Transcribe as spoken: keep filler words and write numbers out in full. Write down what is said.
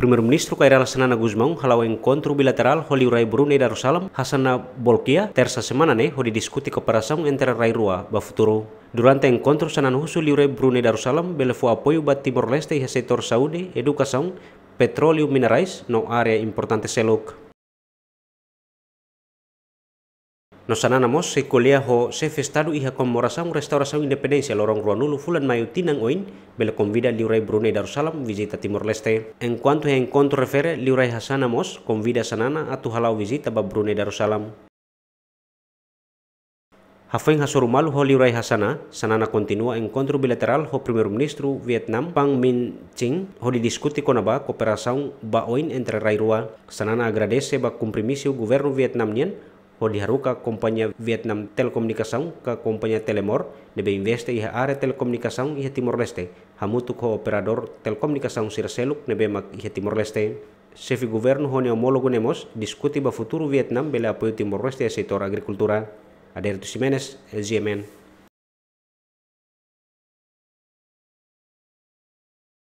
Primeiru-Ministru Kay Rala Xanana Gusmão hala'o enkontru bilaterál ho Liurai Brunei Darussalam, Hassana Bolkiah, Tersa semana ne'e, hodi diskute kooperasaun entre rai rua ba futuru. Durante enkontru, Xanana husu Liurai Brunei Darussalam bele fó apoiu ba Timor-Leste iha setór saúde, edukasaun, petróleu, minerais no área importante seluk. No Xanana mós sei ko'alia ho Xefe Estadu iha komemorasaun restaurasaun independénsia loron ruanulu fulan Maiu tinan oin, bele konvida Liurai Brunei Darussalam vizita Timor-Leste. Enkuantu iha enkontru refere, Liurai Hassana mós konvida Xanana atu hala'o vizita ba Brunei Darussalam. Hafoin hasoru malu ho Liurai Hassana, Xanana kontinua enkontru bilaterál ho Primeiru-Ministru Vietnam, Pham Minh Chinh, hodi diskute kona-ba kooperasaun ba oin entre rai rua. Xanana agradese ba kompromisu governu Vietnam nian hodi haruka kompañia Vietnam Telekomunikasaun ka kompañia Telemor ne'ebé investe iha área telekomunikasaun iha Timor-Leste, hamutuk ho operadór telekomunikasaun sira seluk ne'ebé mak iha Timor-Leste. Xefe governu ho nia omólogu ne'e mós diskute ba futuru Vietnam bele apoiu Timor-Leste iha setór agrikultura. Adérito Ximenes, G M N.